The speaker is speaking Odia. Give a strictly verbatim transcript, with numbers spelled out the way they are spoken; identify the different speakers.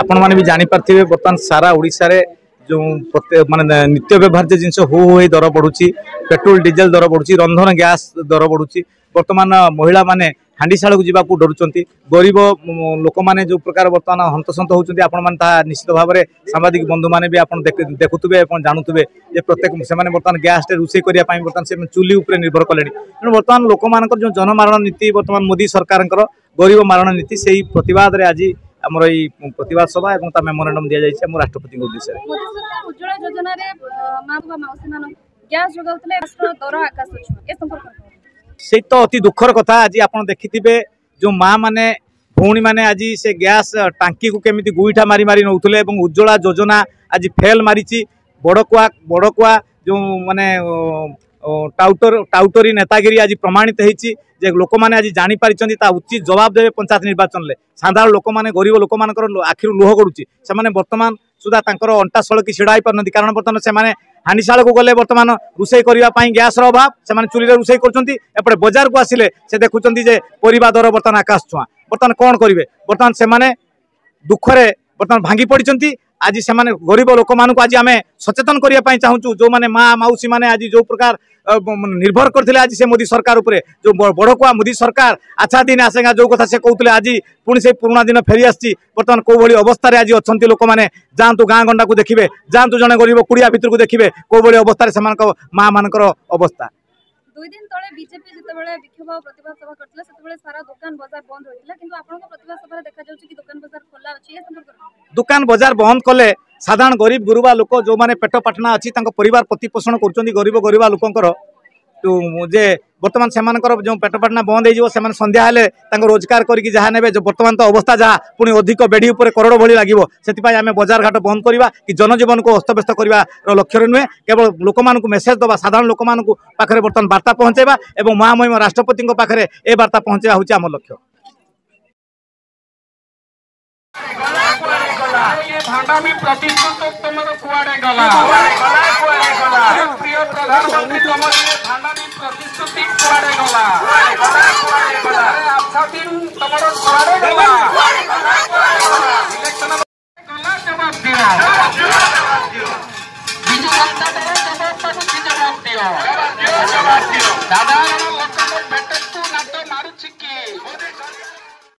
Speaker 1: ଆପଣମାନେ ବି ଜାଣିପାରିଥିବେ, ବର୍ତ୍ତମାନ ସାରା ଓଡ଼ିଶାରେ ଯେଉଁ ପ୍ରତ୍ୟେକ ମାନେ ନିତ୍ୟ ବ୍ୟବହାର୍ଯ୍ୟ ଜିନିଷ ହୁ ହୁ ହେଇ ଦର ବଢୁଛି। ପେଟ୍ରୋଲ ଡିଜେଲ ଦର ବଢୁଛି, ରନ୍ଧନ ଗ୍ୟାସ୍ ଦର ବଢୁଛି। ବର୍ତ୍ତମାନ ମହିଳାମାନେ ହାଣ୍ଡିଶାଳକୁ ଯିବାକୁ ଡରୁଛନ୍ତି। ଗରିବ ଲୋକମାନେ ଯେଉଁ ପ୍ରକାର ବର୍ତ୍ତମାନ ହନ୍ତସନ୍ତ ହେଉଛନ୍ତି, ଆପଣମାନେ ତାହା ନିଶ୍ଚିତ ଭାବରେ ସାମ୍ବାଦିକ ବନ୍ଧୁମାନେ ବି ଆପଣ ଦେଖୁଥିବେ ଏବଂ ଜାଣୁଥିବେ ଯେ ପ୍ରତ୍ୟେକ ସେମାନେ ବର୍ତ୍ତମାନ ଗ୍ୟାସ୍ରେ ରୋଷେଇ କରିବା ପାଇଁ ବର୍ତ୍ତମାନ ସେମାନେ ଚୁଲି ଉପରେ ନିର୍ଭର କଲେଣି। ତେଣୁ ବର୍ତ୍ତମାନ ଲୋକମାନଙ୍କର ଯେଉଁ ଜନମାରଣ ନୀତି, ବର୍ତ୍ତମାନ ମୋଦି ସରକାରଙ୍କର ଗରିବ ମାରଣ ନୀତି, ସେଇ ପ୍ରତିବାଦରେ ଆଜି ଆମର ଏଇ ପ୍ରତିବାଦ ସଭା ଏବଂ ତା ମେମୋରାଣ୍ଡମ୍ ଦିଆଯାଇଛି ଆମ ରାଷ୍ଟ୍ରପତିଙ୍କ ଉଦ୍ଦେଶ୍ୟରେ।
Speaker 2: ମୋଦି ସରକାର ଉଜ୍ଜଳା ଯୋଜନାରେ ମା ବା ମାଉସୀ ମାନଙ୍କୁ ଗ୍ୟାସ୍ ଯୋଗାଉଥିଲେ, ଦର ଆକାଶ ଛୁଆଁ, ଏ ସମ୍ପର୍କରେ?
Speaker 1: ସେଇ ତ ଅତି ଦୁଃଖର କଥା। ଆଜି ଆପଣ ଦେଖିଥିବେ ଯେଉଁ ମା ମାନେ, ଭଉଣୀମାନେ ଆଜି ସେ ଗ୍ୟାସ୍ ଟାଙ୍କିକୁ କେମିତି ଗୁଇଠା ମାରି ମାରି ନେଉଥିଲେ, ଏବଂ ଉଜ୍ଜଳା ଯୋଜନା ଆଜି ଫେଲ୍ ମାରିଛି। ବଡ଼କୁଆ ବଡ଼କୁଆ ଯେଉଁ ମାନେ ଟାଉଟର ଟାଉଟରୀ ନେତାଗିରି ଆଜି ପ୍ରମାଣିତ ହେଇଛି ଯେ ଲୋକମାନେ ଆଜି ଜାଣିପାରିଛନ୍ତି, ତା ଉଚିତ ଜବାବ ଦେବେ ପଞ୍ଚାୟତ ନିର୍ବାଚନରେ। ସାଧାରଣ ଲୋକମାନେ, ଗରିବ ଲୋକମାନଙ୍କର ଆଖିରୁ ଲୁହ ଗଡୁଛି। ସେମାନେ ବର୍ତ୍ତମାନ ସୁଦ୍ଧା ତାଙ୍କର ଅଣ୍ଟା ସଳକି ଛିଡ଼ା ହେଇପାରୁନାହାନ୍ତି, କାରଣ ବର୍ତ୍ତମାନ ସେମାନେ ହାଣ୍ଡିଶାଳକୁ ଗଲେ ବର୍ତ୍ତମାନ ରୋଷେଇ କରିବା ପାଇଁ ଗ୍ୟାସର ଅଭାବ, ସେମାନେ ଚୁଲିରେ ରୋଷେଇ କରୁଛନ୍ତି। ଏପଟେ ବଜାରକୁ ଆସିଲେ ସେ ଦେଖୁଛନ୍ତି ଯେ ପରିବା ଦର ବର୍ତ୍ତମାନ ଆକାଶ ଛୁଆଁ। ବର୍ତ୍ତମାନ କ'ଣ କରିବେ? ବର୍ତ୍ତମାନ ସେମାନେ ଦୁଃଖରେ ବର୍ତ୍ତମାନ ଭାଙ୍ଗି ପଡ଼ିଛନ୍ତି। ଆଜି ସେମାନେ ଗରିବ ଲୋକମାନଙ୍କୁ ଆଜି ଆମେ ସଚେତନ କରିବା ପାଇଁ ଚାହୁଁଛୁ। ଯେଉଁମାନେ ମା ମାଉସୀ ମାନେ ଆଜି ଯେଉଁ ପ୍ରକାର ନିର୍ଭର କରିଥିଲେ ଆଜି ସେ ମୋଦି ସରକାର ଉପରେ, ଯେଉଁ ବଡ଼କୁଆ ମୋଦି ସରକାର ଆଚ୍ଛା ଦିନ ଆସେଗା ଯେଉଁ କଥା ସେ କହୁଥିଲେ, ଆଜି ପୁଣି ସେଇ ପୁରୁଣା ଦିନ ଫେରି ଆସିଛି। ବର୍ତ୍ତମାନ କୋଉଭଳି ଅବସ୍ଥାରେ ଆଜି ଅଛନ୍ତି ଲୋକମାନେ, ଯାଆନ୍ତୁ ଗାଁ ଗଣ୍ଡାକୁ ଦେଖିବେ, ଯାଆନ୍ତୁ ଜଣେ ଗରିବ କୁଡ଼ିଆ ଭିତରକୁ ଦେଖିବେ କୋଉଭଳି ଅବସ୍ଥାରେ ସେମାନଙ୍କ ମା ମାନଙ୍କର ଅବସ୍ଥା।
Speaker 2: ଦୁଇ ଦିନ ତଳେ ବିଜେପି ଯେତେବେଳେ ବିକ୍ଷୋଭ ଆଉ ପ୍ରତିବାଦ ସଭା କରିଥିଲା, ସେତେବେଳେ ସାରା ଦୋକାନ ବଜାର ବନ୍ଦ ହୋଇଥିଲା, କିନ୍ତୁ ଆପଣଙ୍କ ପ୍ରତିବାଦ ସଭାରେ ଦେଖାଯାଉଛି କି ଦୋକାନ ବଜାର ଖୋଲା ଅଛି, ଏ ସମ୍ପର୍କରେ?
Speaker 1: ଦୋକାନ ବଜାର ବନ୍ଦ କଲେ ସାଧାରଣ ଗରିବ ଗୁରୁବା ଲୋକ ଯେଉଁମାନେ ପେଟ ପାଟଣା ଅଛି, ତାଙ୍କ ପରିବାର ପ୍ରତିପୋଷଣ କରୁଛନ୍ତି, ଗରିବ ଗରିବା ଲୋକଙ୍କର ଯେ ବର୍ତ୍ତମାନ ସେମାନଙ୍କର ଯେଉଁ ପେଟ ପାଟଣା ବନ୍ଦ ହେଇଯିବ, ସେମାନେ ସନ୍ଧ୍ୟା ହେଲେ ତାଙ୍କ ରୋଜଗାର କରିକି ଯାହା ନେବେ। ବର୍ତ୍ତମାନ ତ ଅବସ୍ଥା ଯାହା, ପୁଣି ଅଧିକ ବେଢ଼ି ଉପରେ କରଡ଼ ଭଳି ଲାଗିବ। ସେଥିପାଇଁ ଆମେ ବଜାର ଘାଟ ବନ୍ଦ କରିବା କି ଜନଜୀବନକୁ ଅସ୍ତବ୍ୟସ୍ତ କରିବାର ଲକ୍ଷ୍ୟରେ ନୁହେଁ, କେବଳ ଲୋକମାନଙ୍କୁ ମେସେଜ ଦେବା, ସାଧାରଣ ଲୋକମାନଙ୍କୁ ପାଖରେ ବର୍ତ୍ତମାନ ବାର୍ତ୍ତା ପହଞ୍ଚାଇବା ଏବଂ ମହାମହିମ ରାଷ୍ଟ୍ରପତିଙ୍କ ପାଖରେ ଏ ବାର୍ତ୍ତା ପହଞ୍ଚାଇବା ହେଉଛି ଆମ ଲକ୍ଷ୍ୟ।
Speaker 3: ଭାଣ୍ଡାମି ପ୍ରତିଶ୍ରୁତି ତମର କୁଆଡେ ଗଲା, ପ୍ରିୟ ପ୍ରଧାନମନ୍ତ୍ରୀ? ତମର ଇଏ ଭାଣ୍ଡାମି ପ୍ରତିଶ୍ରୁତି କୁଆଡେ ଗଲା? ଆଚ୍ଛା ଦିନ ତମର କୁଆଡେ ଗଲା? ଇଲେକ୍ସନ ଗଲା, ଜବାବ ଦିଅ। ବିଜୁ ଜନତା ଦଳ ଜବାବ ମାଗୁଛି, ଜବାବ ଦିଅ। ସାଧାରଣ ଲୋକଙ୍କ ପେଟ